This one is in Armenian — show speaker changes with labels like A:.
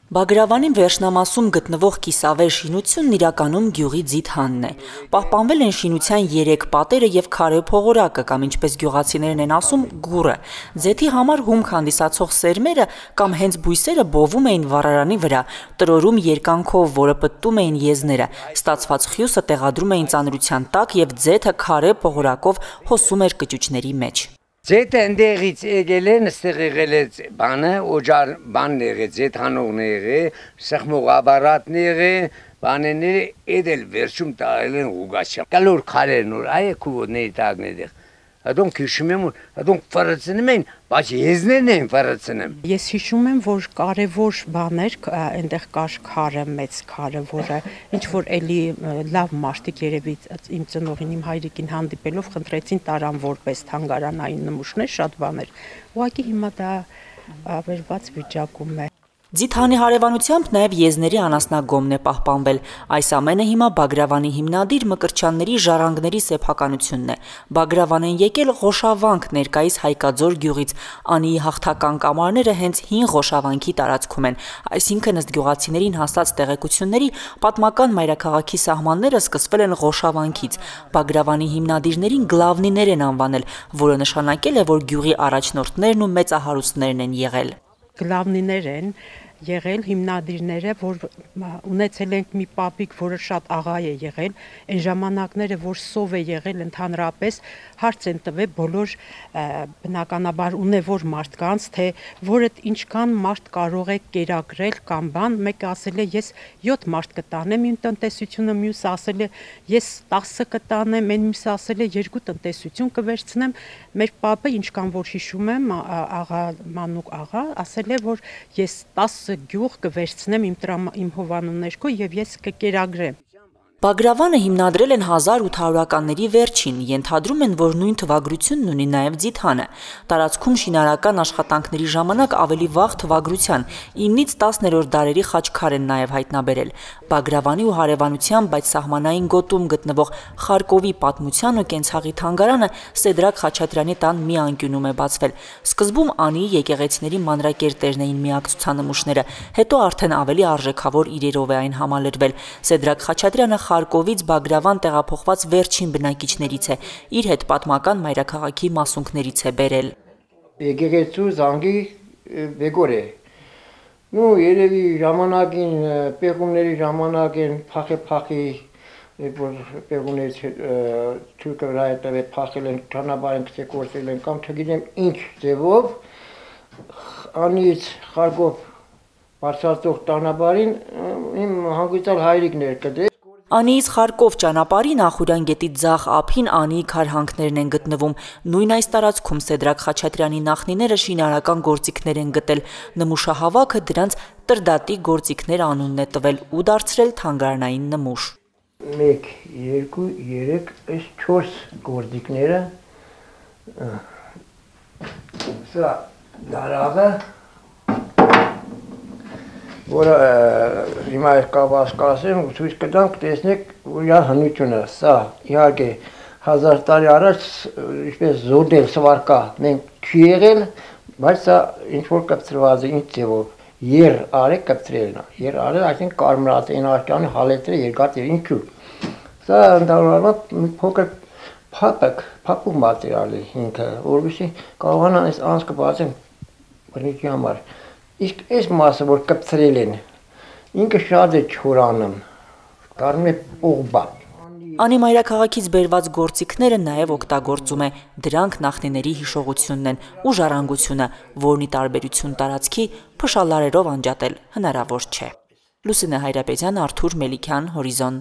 A: Բագրավանի վերջնամասում գտնվող կիսավեր շինությունն իրականում գյուղի ձիթանն է։ Պահպանվել են շինության 3 պատերը եւ քարե փողորակը կամ ինչպես գյուղացիներն են ասում գուռը։ Ձեթի համար հումք հանդիսացող սերմերը կամ հենց բույսերը բովում էին վառարանի վրա, տրորում երկանքով, որը պտտում էին եզները։ Ստացված խյուսը տեղադրում էին ծանրության տակ եւ ձեթը քարե փողորակով հոսում էր կճուճների մեջ։
B: Ձեթը ընդեղից եկել են, ստեղ եղել է բանը, օջար բանն եղել, ձեթանողն եղել, սխմող ապարատն եղել, բանները էդել վերջում տարել են ուգաչա։ Կալոր քարերն որ այ քուվոների տակն էդեղ։ Adonk հիշում եմ, adonk ֆարացնում են, բայց եզներն են ֆարացնում։
C: Ես հիշում եմ, որ կարևոր բաներ այնտեղ կար քարը, մեծ քարը, որը ինչ որ էլի լավ մարդիկ երևի իմ ծնողին, իմ հայրիկին հանդիպելով խնդրեցին տարան որպես թանգարանային նմուշներ, շատ բաներ։ Ուղղակի հիմա դա ավերված վիճակում է։
A: Ձիթանի հարևանությամբ նաև եզների անասնագոմն է պահպանվել։ Այս ամենը հիմա Բագրավանի հիմնադիր Մկրտչյանների ժառանգների սեփականությունն է։ Բագրավան են եկել Ղոշավանք ներկայիս Հայկաձոր գյուղից։ Անիի հաղթական կամարները հենց հին Ղոշավանքի տարածքում են։ Այսինքն ըստ գյուղացիներին հասած տեղեկությունների պատմական մայրաքաղաքի սահմանները սկսվել են Ղոշավանքից։ Բագրավանի հիմնադիրներին գլավնիներ են անվանել, որը նշանակել է, որ գյուղի առաջնորդներն ու մեծահարուստներն են եղել։
C: Գլավնիներ են եղել հիմնադիրները, որ ունեցել ենք մի պապիկ, որը շատ աղա է եղել, այն ժամանակները, որ սով է եղել ընդհանրապես, հարց են տվել բոլոր բնականաբար ունևոր մարդկանց, թե որը ինչքան մարդ կարող է կերակրել կամ բան, մեկը ասել է ես 7 մարդ կտանեմ իմ տնտեսությունը, մյուսը ասել է ես 10 կտանեմ, այն մյուսը ասել է 2 տնտեսություն կվերցնեմ, մեր պապը ինչքան որ հիշում եմ, աղա Մանուկ աղա, ասել է, որ ես 10 գյուղ կվերցնեմ իմ հովանու ներքո եւ ես կկերագրեմ։
A: Բագրավանը հիմնադրել են 1800-ականների վերջին, ենթադրում են, որ նույն թվագրությունն ունի նաև ձիթանը։ Տարածքում շինարարական աշխատանքների ժամանակ ավելի վաղ թվագրության 9-ից 10-րդ դարերի խաչքար են նաև հայտնաբերել։ Բագրավանի ու հարևանության, բայց սահմանային գոտում գտնվող Խարկովի պատմության ու կենցաղի թանգարանը Սեդրակ Խաչատրյանի տան մի անկյունում է բացվել։ Սկզբում Անիի եկեղեցիների մանրակերտերն էին միակ ցուցանմուշները, հետո արդեն ավելի արժեքավոր իրերով է այն համալրվել։ Սեդրակ Խաչատրյանը Խարկովից Բագրավան տեղափոխված վերջին բնակիչներից է, իր հետ պատմական մայրաքաղաքի մասունքներից է բերել։
D: Եկեղեցու զանգի բեգոր է։ Նու երևի ժամանակին պեղումների ժամանակին փախի որ պեղումներից թուրքը վրայտավե փախել են, ճանապարհին կցեկորցել են կամ չգիտեմ ինչ ձևով Անից Խարկով բարձրացող ճանապարհին իմ հանգուցալ հայրիկներ կդե
A: Անիից Խարկով ճանապարհի Նախուրյան գետի ձախ ափին Անիի քարհանքներն են գտնվում։ Նույն այս տարածքում Սեդրակ Խաչատրյանի նախնիները շինարարական գործիքներ են գտել։ Նմուշահավաքը դրանց Տրդատի գործիքներ անունն է տվել ու դարձրել թանգարանային նմուշ։
D: 1, 2, 3, այս 4 գործիքները սա դարավը որը հիմա կասկածեմ ցույց կտամ տեսնեք իր հնությունը սա իհարկե 1000 տարի առաջ ինչպես զոդել սվարկա մենք չի եղել բայց սա ինչ որ կապծրված է ինչ ձևով եր արե կապծրելն է եր արը այսինքն կարմրած են աշկյանի հալետրը երկաթ է ինչու սա ընդհանրապես մի փոքր փապում մատերիալ է ինքը որովհետեւ կարողանան այս անցքը բացեն բնիկի համար Իսկ այս մասը, որ կպցրել են, ինքը շատ է չորանում, կարում է պողբա։
A: Անի մայրաքաղաքից բերված գործիքները նաև օգտագործում է, դրանք նախնիների հիշողությունն են ու ժառանգությունը, որն ի տարբերություն տարածքի փշալարերով անջատել հնարավոր չէ։ Լուսինե Հայրապետյան, Արթուր Մելիքյան, Հորիզոն։